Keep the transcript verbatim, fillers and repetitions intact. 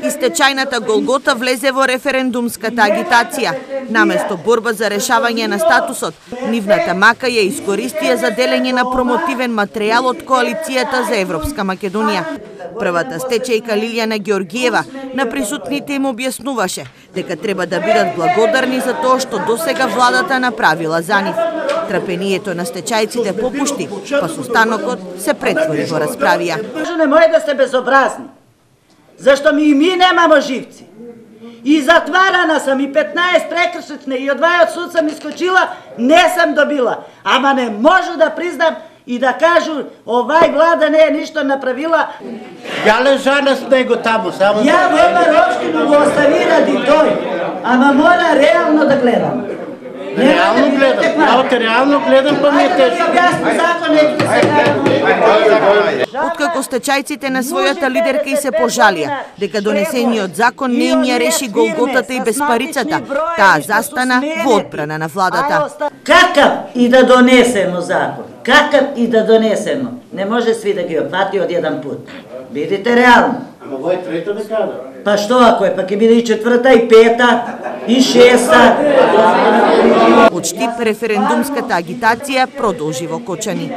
И стечајната Голгота влезе во референдумската агитација. Наместо борба за решавање на статусот, нивната мака ја искористија за делење на промотивен материјал од Коалицијата за Европска Македонија. Првата стечајка Лилјана Георгиева на присутните им објаснуваше дека треба да бидат благодарни за тоа што досега владата направила за нив. Трпението на стечајците попушти, па состанокот се претвори во расправија. Не може да сте безобразни, зашто ми и ми немамо живци. И затварана сам и петнаесет прекршични и од дваесет суд сам искочила, не сам добила. Ама не можу да признам и да кажу овај влада не е ништо направила. Ја лежана с него таму, само... Ја во Општину го остави ради тој, ама мора реално да гледам. Реално гледам, ја реално гледам, па ми е тешко. Откако стечајците на својата лидерка и се пожалија дека донесениот закон не им ја реши Голготата и безпарицата, таа застана во одбрана на владата. Какав и да донесемо закон, какав и да донесемо, не може сви да ги опфати од еден пут. Бидите реално. Ама во е трета декада. Па што ако е, па ќе биде и четврта, и пета, и шеста. Од Штип референдумската агитација продолжи во Кочани.